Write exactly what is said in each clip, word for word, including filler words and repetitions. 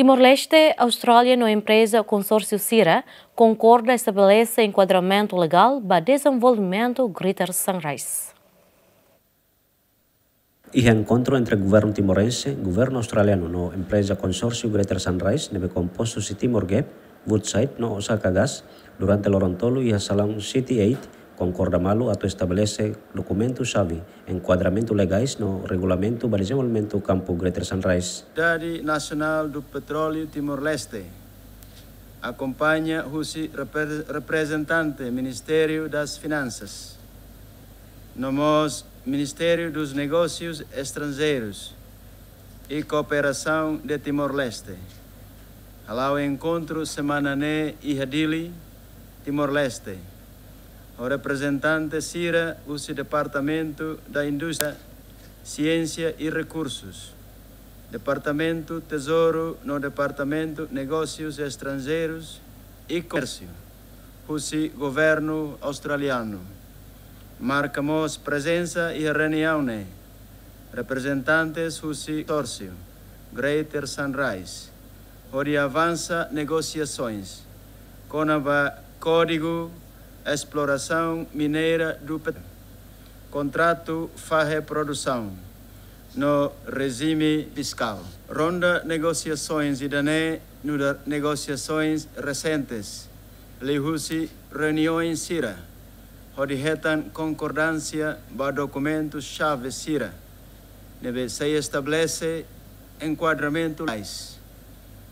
Timor-Leste, Austrália no empreza konsórsiu sira konkorda estabelese enkuadramentu legál ba dezenvolvimentu Greater Sunrise. Iha enkontru entre governu timorense, governu australianu no empreza konsórsiu Greater Sunrise ne'ebé kompostu husi Timor Gap, Woodside no Osaka Gas, durante loron tolu iha salaun City eight, konkorda malu atu estabelese dokumentu xave, enkuadramentu legais no regulamentu ba dezenvolvimentu kampu Greater Sunrise. Autoridade Nasionál do Petróleo Timor-Leste, akompaña husi repre-, reprezentante Ministériu das Finansas, no mós Ministériu dos Negósius Estranjeirus e Kooperasaun de Timor-Leste, hala'o enkontru semana ne'e iha Dili, Timor-Leste, ho reprezentante sira husi Departamentu da Indústria, Siénsia e Rekursus, Departamentu Tezouru no Departamentu Negósius Estranjeirus e Komérsiu husi governu australianu. Marka mós prezensa iha reuniaun ne'e reprezentantes husi konsórsiu Greater Sunrise, hodi avansa negosiasoens kona-ba Kódigu Esplorasaun Mineira do Petróleo, kontratu fahe produsaun no rejime fiskál. Ronda negosiasoens ida-ne'e nu'udar negosiasoens resentes liuhusi reuniaun sira, hodi hetan konkordánsia ba dokumentu xave sira ne'ebé sei estabelese enkuadramentu legais,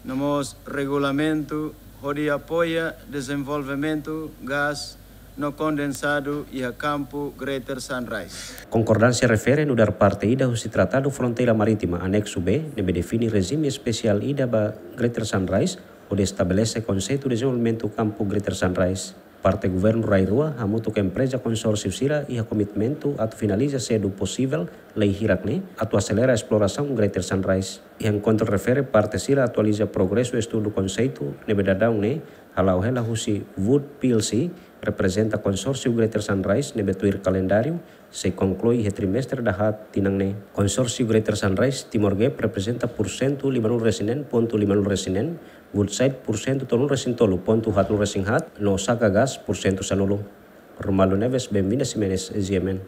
no mós regulamentu hodi apoia dezenvolvimentu gás no kondensadu iha kampu Greater Sunrise. Konkordánsia refere nu'udar parte ida husi Tratadu Fronteira Marítima Anexu B, ne'ebé define rejime espesiál ida ba Greater Sunrise, hodi estabelese konseitu dezenvolvimentu kampu Greater Sunrise. Parte governu rai-rua hamutuk ho empreza konsórsiu sira iha komitmentu atu finaliza sedu posivel lei hirak ne'e atu aselera esplorasaun Greater Sunrise. Iha enkontru refere parte sira atualiza progresu estudu konseitu ne'ebé daudaun ne'e hala'o hela husi Wood P L C, reprezenta konsórsiu Greater Sunrise ne'ebé tuir kalendáriu sei konklui iha trimestre dahaat tinan ne'e. Konsórsiu Greater Sunrise Timor Gap reprezenta pursentu lima-nulu-resin-neen pontu lima-nulu-resin-neen, Woodside pursentu tolunulu-resin-tolu pontu haatnulu-resin-haat, no Osaka Gas pursentu sanulu. Romualdo Neves, Benvinda Ximenes, G M N.